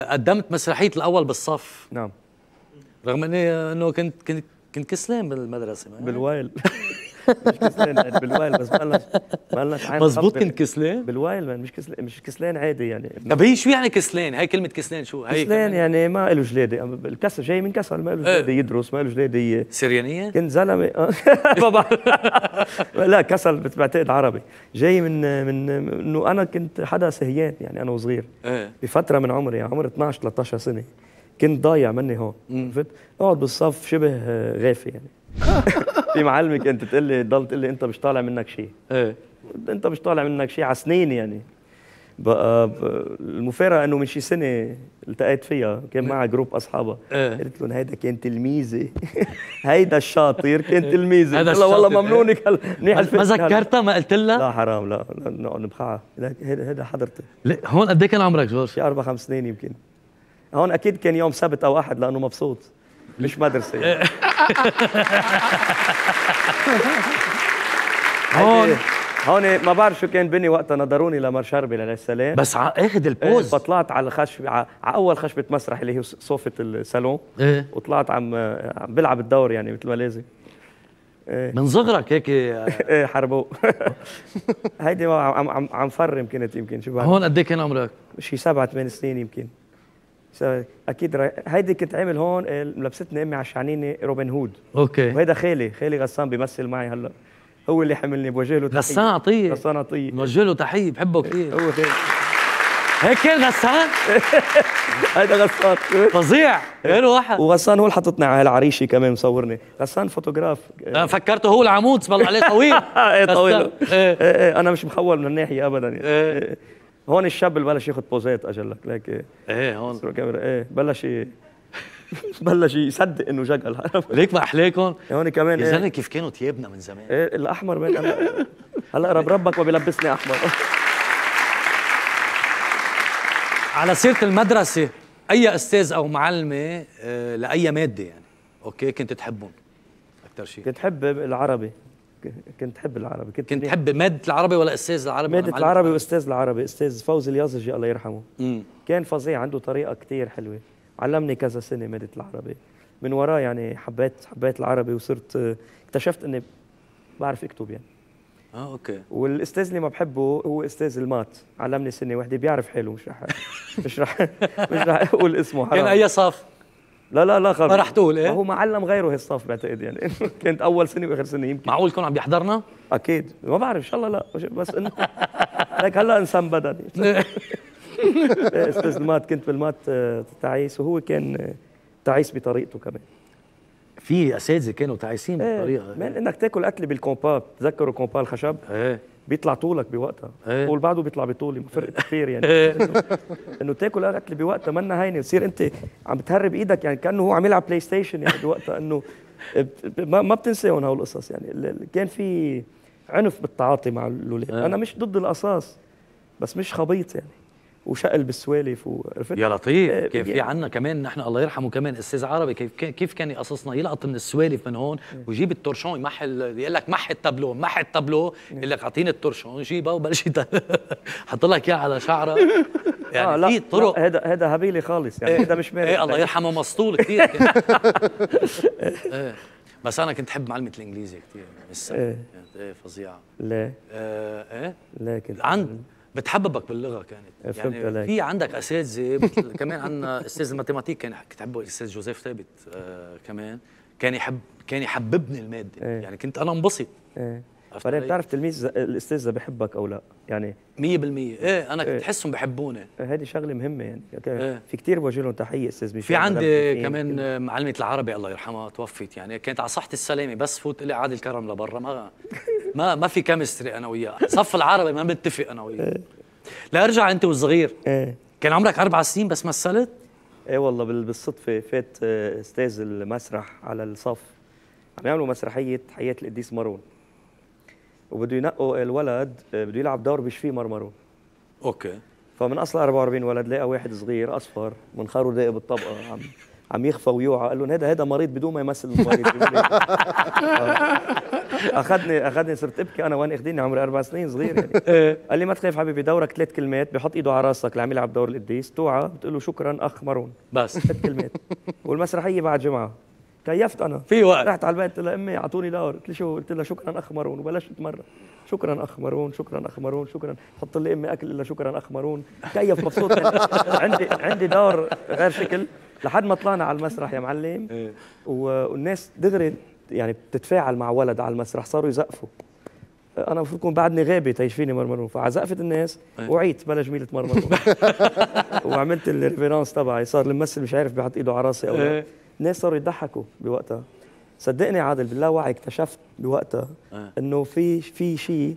قدمت مسرحية الأول بالصف. نعم. رغم إنه كنت كسلان بالمدرسة. بالوايل. مش كسلان يعني بالوايل، بس ما لناش عين. مظبوط كنت كسلان؟ بالوايل مش كسلان عادي يعني. طب هي شو يعني كسلان؟ هاي كلمة كسلان شو؟ هي كسلان يعني ما له جلادة، الكسل جاي من كسل، ما له جلادة يدرس، ما له جلادة. سريانية؟ كنت زلمة. لا كسل بعتقد عربي، جاي من انه انا كنت حدا سهيان يعني انا وصغير. بفترة من عمري يعني عمر 12 13 سنة كنت ضايع مني هون. عرفت؟ اقعد بالصف شبه غافي يعني. في معلمة كانت تضل تقول لي انت مش طالع منك شيء. انت مش طالع منك شيء على سنين يعني. بقى المفارقة انه من شي سنة التقيت فيها، كان معها جروب اصحابها. قلت لهم هيدا كان تلميذي. هيدا الشاطر كان تلميذي. قلت لها والله ممنونك منيح ما ذكرتها؟ ما قلت لها؟ لا حرام، لا نقعد نبخعها. هيدا حضرتي. هون قد ايه كان عمرك جورج؟ شي 4 5 سنين يمكن. هون اكيد كان يوم سبت او احد لانه مبسوط، مش مدرسة يعني. هون ما بعرف شو كان بني وقتها، نظروني لمر شربل عليه السلام، بس اخذ البوز. فطلعت على الخشبة، على اول خشبة مسرح اللي هي صوفة الصالون. وطلعت عم بلعب الدور يعني مثل ما لازم. من صغرك هيك؟ ايه حربو. هيدي عم فرم كنت يمكن. شو هون قد ايه كان عمرك؟ شي 7 8 سنين يمكن. اكيد هيدي كنت عامل هون، لبستني امي على الشعنينه روبن هود. اوكي. وهيدا خالي غسان بيمثل معي هلا، هو اللي حملني، بوجه له تحيه. غسان عطيه بوجه له تحيه، بحبه كثير. هو خالي هيك كان غسان. هيدا غسان فظيع، غير واحد. وغسان هو اللي حطتني على العريشه كمان مصورني. غسان فوتوغراف. انا فكرته هو العمود صبل عليه طويل. ايه طويل. ايه انا مش مخول من الناحيه ابدا يعني. هون الشاب اللي بلش ياخذ بوزات اجلك ليك. ايه هون ايه بلش يصدق انه جقل. ليك ما احلاكم هون كمان. يا زلمه كيف كانوا ثيابنا من زمان. ايه الاحمر من هلا ربك ما بيلبسني احمر. على سيره المدرسه، اي استاذ او معلمه لاي ماده يعني اوكي كنت تحبهم اكثر شيء؟ كنت حب العربي. كنت حب العربي. كنت تحب مادة العربي ولا أستاذ العربي؟ مادة العربي وأستاذ العربي. أستاذ فوزي اليازجي الله يرحمه. كان فظيع، عنده طريقة كتير حلوة، علمني كذا سنة مادة العربي. من وراه يعني حبيت العربي، وصرت اكتشفت إني بعرف أكتب يعني. أوكي. والأستاذ اللي ما بحبه هو أستاذ المات، علمني سنة واحدة، بيعرف حاله. مش رح أقول اسمه حرام. كان أي صف؟ لا خلص. ما رح تقول ايه؟ هو ما علم غيره هالصف بعتقد يعني. كانت اول سنه واخر سنه يمكن. معقول يكون عم بيحضرنا؟ اكيد ما بعرف، ان شاء الله لا، بس انه لك هلا انسان بدني. استاذ المات، كنت بالمات تعيس، وهو كان تعيس بطريقته كمان. في اساتذه كانوا تعيسين بطريقه. انك تاكل اكل بالكومبا، تذكروا كومبا الخشب؟ بيطلع طولك بوقتها. طول بعده بيطلع بطولي، فرق كثير يعني. انه تاكل اكل بوقتها منا هينه، تصير انت عم بتهرب ايدك يعني كانه هو عم يلعب بلاي ستيشن يعني بوقتها. انه ما بتنساهم هول القصص يعني. كان في عنف بالتعاطي مع الاولاد. انا مش ضد القصاص، بس مش خبيط يعني، وشقل بالسوالف وعرفت. يا لطيف. كيف في عنا كمان نحن الله يرحمه كمان استاذ عربي، كيف كان يقصصنا، يلقط من السوالف من هون ويجيب التورشون يمحل، يقول لك محي التابلو، يقول لك اعطيني التورشون، جيبه وبلش حط لك اياه على شعره يعني. في طرق. هذا هبيلي خالص يعني. هذا مش مارق. الله يرحمه مسطول كثير. بس انا كنت احب معلمه الانجليزي كثير لسه. فظيعه. ليه؟ لا كنت بتحببك باللغه كانت يعني. في عندك اساتذه كمان. عندنا استاذ الماتيماتيك كان كتحبه، الاستاذ جوزيف ثابت كمان كان يحببني الماده. يعني كنت انا انبسط. بعدين بتعرف تلميذ الاستاذ بحبك او لا يعني 100%. انا كنت احسهم بحبوني. هذه شغله مهمه يعني. في كثير بوجه لهم تحيه استاذ ميشيل. في عندي كمان معلمه العربي الله يرحمها توفت يعني، كانت على صحه السلامه، بس فوت لي عادل كرم لبرا، ما في كيمستري انا وياه. صف العربي ما بنتفق انا وياه. لا ارجع انت والصغير. كان عمرك 4 سنين بس مثلت؟ ايه والله بالصدفه فات استاذ المسرح على الصف، عم يعملوا مسرحيه حياه القديس مارون، وبده ينقوا الولد بده يلعب دور بيشفيه مرمرون. اوكي. فمن اصل 44 ولد لقى واحد صغير اصفر منخاره داقي بالطبقه عم يخفى ويوعى، قال لهم هذا مريض بدون ما يمثل المريض. اخذني صرت ابكي انا وين اخذيني عمري 4 سنين صغير يعني. قال لي ما تخاف حبيبي، دورك 3 كلمات، بحط ايده على راسك اللي عم يلعب دور القديس، توعى بتقول له شكرا اخ مارون، بس 3 كلمات. والمسرحيه بعد جمعه كيفت انا في وقت. رحت على البيت قلت لها امي اعطوني دور، قلت لي شو؟ قلت لها شكرا اخ مارون، وبلشت اتمرن. شكرا اخ مارون، شكرا اخ مارون، شكرا. حط لي امي اكل الا شكرا اخ مارون. كيف مبسوط يعني. عندي دور غير شكل لحد ما طلعنا على المسرح يا معلم. والناس دغري يعني بتتفاعل مع ولد على المسرح، صاروا يزقفوا. انا المفروض كون بعدني غابه تيشفيني مرمرون، فعزقفت الناس وعيت بلا جميله مرمرون. وعملت الريفيرانس تبعي، صار الممثل مش عارف بيحط ايده على راسي او لا. الناس صاروا يضحكوا بوقتها. صدقني عادل باللاوعي اكتشفت بوقتها انه في شيء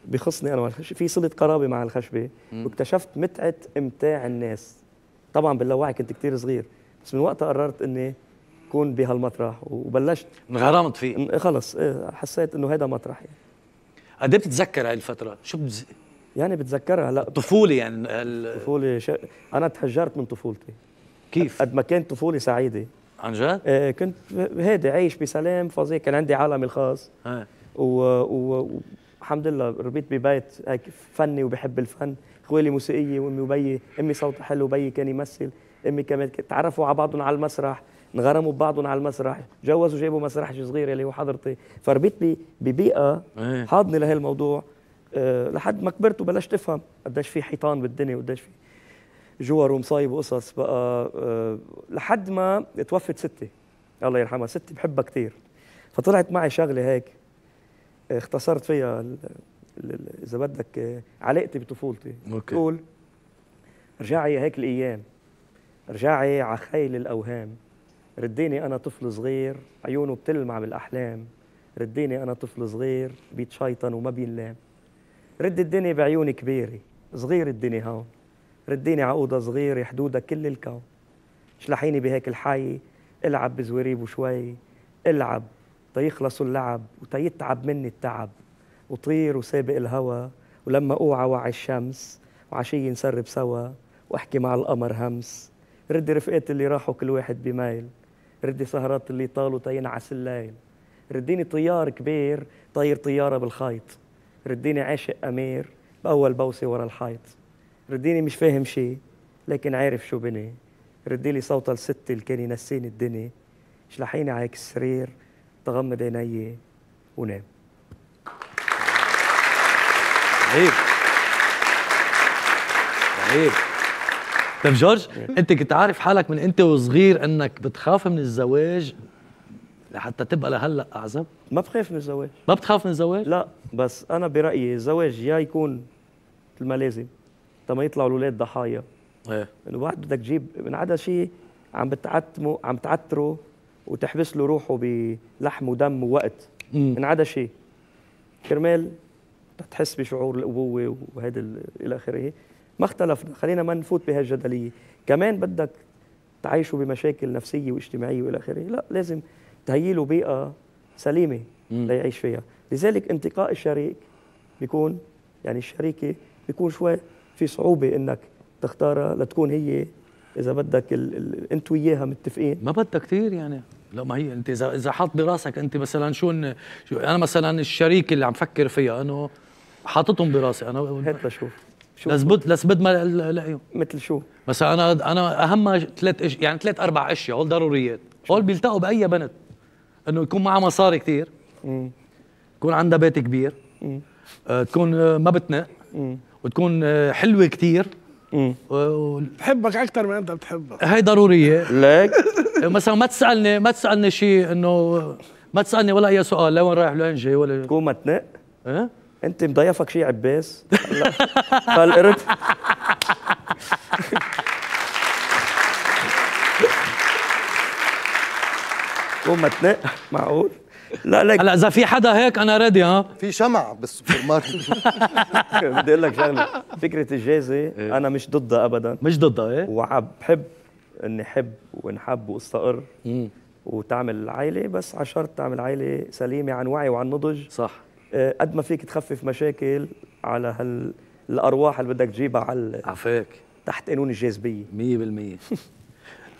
بخصني انا في صله قرابه مع الخشبه، واكتشفت متعه امتاع الناس. طبعا باللاوعي كنت كتير صغير، بس من وقتها قررت اني كون بهالمطرح وبلشت انغرمت فيه خلص. حسيت انه هذا مطرح يعني. قد ايه بتتذكر هاي الفتره؟ شو يعني بتذكرها؟ لا الطفوله يعني طفولة انا تحجرت من طفولتي. كيف؟ قد ما كانت طفولة سعيدة عن جد؟ كنت هادي عايش بسلام فظيع، كان عندي عالمي الخاص. والحمد لله ربيت ببيت هيك فني وبحب الفن. اخوالي موسيقية وامي وبيي، امي صوتها حلو وبيي كان يمثل، امي كمان تعرفوا على بعضهم على المسرح، انغرموا ببعضهم على المسرح، تجوزوا جابوا مسرح صغير اللي هو حضرتي. فربيت ببيئة حاضنة لهي الموضوع لحد ما كبرت وبلشت افهم قديش في حيطان بالدنيا وقديش في جوار ومصايب وقصص بقى. لحد ما توفت ستي الله يرحمها. ستي بحبها كثير، فطلعت معي شغله هيك اختصرت فيها اذا بدك علاقتي بطفولتي. تقول رجعي هيك الايام، رجعي على خيل الاوهام، رديني انا طفل صغير عيونه بتلمع بالاحلام، رديني انا طفل صغير بيتشيطن وما بينلام، رد الدنيا بعيوني كبيره، صغير الدنيا هون، رديني عقودة صغيرة حدودها كل الكون، شلحيني بهيك الحي، العب بزواريب وشوي، العب تيخلصوا اللعب وتيتعب مني التعب، وطير وسابق الهوى، ولما اوعى وعي الشمس، وعشية نسرب سوا، واحكي مع القمر همس، ردي رفقات اللي راحوا كل واحد بميل، ردي سهرات اللي طالوا تينعس الليل، رديني طيار كبير طير طيارة بالخيط، رديني عاشق أمير بأول بوسة ورا الحيط، رديني مش فاهم شي لكن عارف شو بني، رديلي صوت الست اللي كان ينسيني الدنيا، شلحيني عليك السرير تغمض عيني ونام. رهيب رهيب. طيب جورج، انت كنت عارف حالك من انت وصغير انك بتخاف من الزواج لحتى تبقى لهلا اعزب؟ ما بخاف من الزواج. ما بتخاف من الزواج؟ لا، بس انا برايي الزواج يا يكون مثل ما لازم تما يطلعوا الاولاد ضحايا. ايه انه بعد بدك تجيب من عدا شيء عم تعتره وتحبس له روحه بلحم ودم ووقت. من عدا شيء كرمال تحس بشعور الابوه وهذا الى اخره. ما اختلفنا، خلينا ما نفوت بهالجدليه. كمان بدك تعيشوا بمشاكل نفسيه واجتماعيه والى اخره، لا لازم تهيئ له بيئه سليمه ليعيش فيها. لذلك انتقاء الشريك بيكون يعني الشريكه بيكون شوي في صعوبه انك تختارها لتكون هي اذا بدك انت وياها متفقين. ما بدها كثير يعني. لا ما هي انت اذا حاط براسك انت مثلا شو انا مثلا الشريك اللي عم فكر فيها انه حاططهم براسي انا هات لشوف لسبد ما لاقيهم. مثل شو؟ مثلا انا اهم 3 4 اشياء هول ضروريات، هول بيلتقوا باي بنت، انه يكون معها مصاري كثير، يكون عندها بيت كبير، تكون ما بتنق، وتكون حلوه كثير، بحبك اكثر من انت بتحبك. هي ضروريه. ليك مثلا ما تسالني شيء انه ما تسالني ولا اي سؤال، لوين رايح لوين جاي ولا تكون ما تنق. ايه انت مضيفك شيء عباس فالقرد تكون ما تنق معقول؟ لا لك هلا اذا في حدا هيك انا ريدي. ها في شمع بالسوبر ماركت. بدي اقول لك شغله، فكره الجازه انا مش ضدها ابدا، مش ضدها. ايه وبحب اني احب وانحب واستقر وتعمل عائله، بس على شرط تعمل عائله سليمه عن وعي وعن نضج. صح. قد ما فيك تخفف مشاكل على الارواح اللي بدك تجيبها على عفاك تحت قانون الجاذبيه 100%.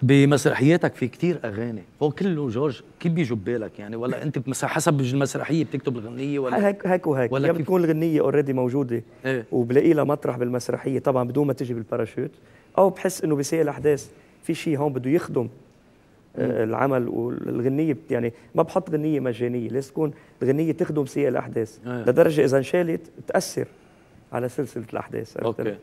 بمسرحياتك في كتير اغاني، هو كله جورج كيف بيجوا ببالك يعني؟ ولا انت حسب المسرحيه بتكتب الغنيه ولا هيك وهيك، ولا يا كيف؟ بتكون الغنيه اوريدي موجوده ايه وبلاقي لها مطرح بالمسرحيه طبعا بدون ما تجي بالباراشوت، او بحس انه بسيء الاحداث في شيء هون بده يخدم العمل والغنيه يعني ما بحط غنيه مجانيه، لازم تكون الغنيه تخدم سياق الاحداث لدرجه اذا انشالت تاثر على سلسله الاحداث. اوكي.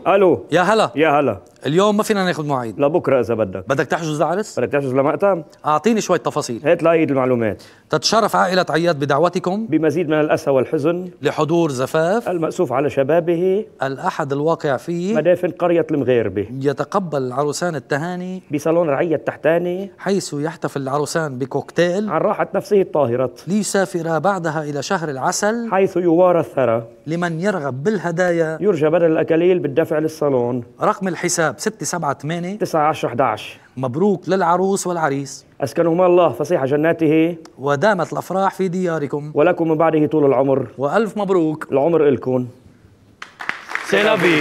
الو يا هلا يا هلا. اليوم ما فينا ناخذ مواعيد، لبكره اذا بدك تحجز لعرس؟ بدك تحجز لمقطم؟ اعطيني شوي تفاصيل. هات لايد المعلومات. تتشرف عائله عياد بدعوتكم بمزيد من الاسى والحزن لحضور زفاف المأسوف على شبابه الأحد الواقع فيه مدافن قرية المغيربة. يتقبل العروسان التهاني بصالون رعية التحتاني حيث يحتفل العروسان بكوكتيل عن راحة نفسه الطاهرة ليسافر بعدها إلى شهر العسل حيث يوارى الثرى. لمن يرغب بالهدايا يرجى بدل الأكاليل بالدفع للصالون. رقم الحساب 678 9 10 11. مبروك للعروس والعريس، أسكنهما الله فصيح جناته ودامت الأفراح في دياركم، ولكم من بعده طول العمر. وألف مبروك. العمر إلكم. سلامي.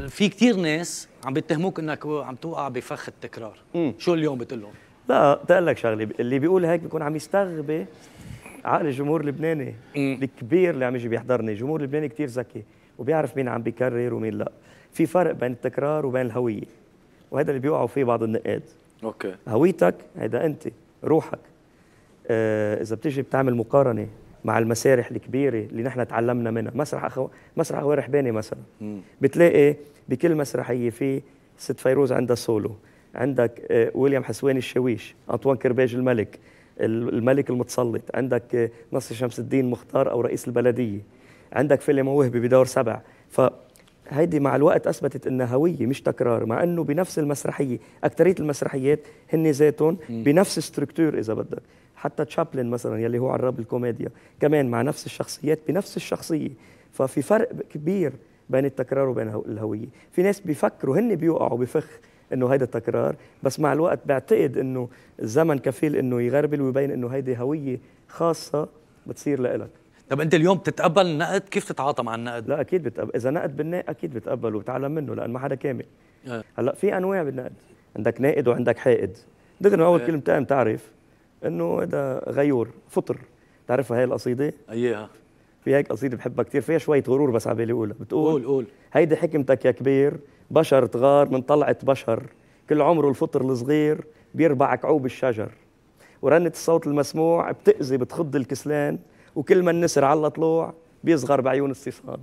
في كتير ناس عم بيتهموك انك عم توقع بفخ التكرار، شو اليوم بتقول لهم؟ لا تقول لك شغله، اللي بيقول هيك بيكون عم يستغبي عقل الجمهور اللبناني الكبير اللي عم يجي بيحضرني. الجمهور اللبناني كتير ذكي وبيعرف مين عم بيكرر ومين لا. في فرق بين التكرار وبين الهويه، وهذا اللي بيوقعوا فيه بعض النقاد. اوكي. هويتك هيدا انت، روحك. اذا بتيجي بتعمل مقارنه مع المسارح الكبيره اللي نحن تعلمنا منها، مسرح أغوار رحباني مثلا، بتلاقي بكل مسرحيه في ست فيروز عندها سولو، عندك ويليام حسواني الشاويش، أنطوان كرباج الملك المتسلط، عندك نصر شمس الدين مختار او رئيس البلديه، عندك فيلم وهبي بدور 7. فهيدي مع الوقت اثبتت انها هويه مش تكرار، مع انه بنفس المسرحيه اكثريه المسرحيات هن ذاتهم بنفس ستركتور. اذا بدك حتى تشابلن مثلا يلي هو عراب الكوميديا كمان مع نفس الشخصيات بنفس الشخصيه. ففي فرق كبير بين التكرار وبين الهويه. في ناس بيفكروا هن بيوقعوا بفخ انه هيدا تكرار، بس مع الوقت بعتقد انه الزمن كفيل انه يغربل ويبين انه هيدي هويه خاصه بتصير لإلك. طب انت اليوم بتتقبل النقد؟ كيف تتعاطى مع النقد؟ لا اكيد بتقبل، اذا نقد بالناء اكيد بتقبل وبتعلم منه لان ما حدا كامل. هلا في انواع بالنقد، عندك نائد وعندك حائد. دغري اول كلمه بتقام تعرف انه هذا غيور فطر. تعرفها هاي القصيده؟ اياها. في هيك قصيده بحبها كثير فيها شويه غرور بس على بالي اقولها. بتقول قول هيدي حكمتك يا كبير، بشر تغار من طلعة بشر، كل عمره الفطر الصغير بيربع كعوب الشجر، ورنة الصوت المسموع بتأذي بتخض الكسلان، وكل ما النسر على طلوع بيصغر بعيون الصيصان.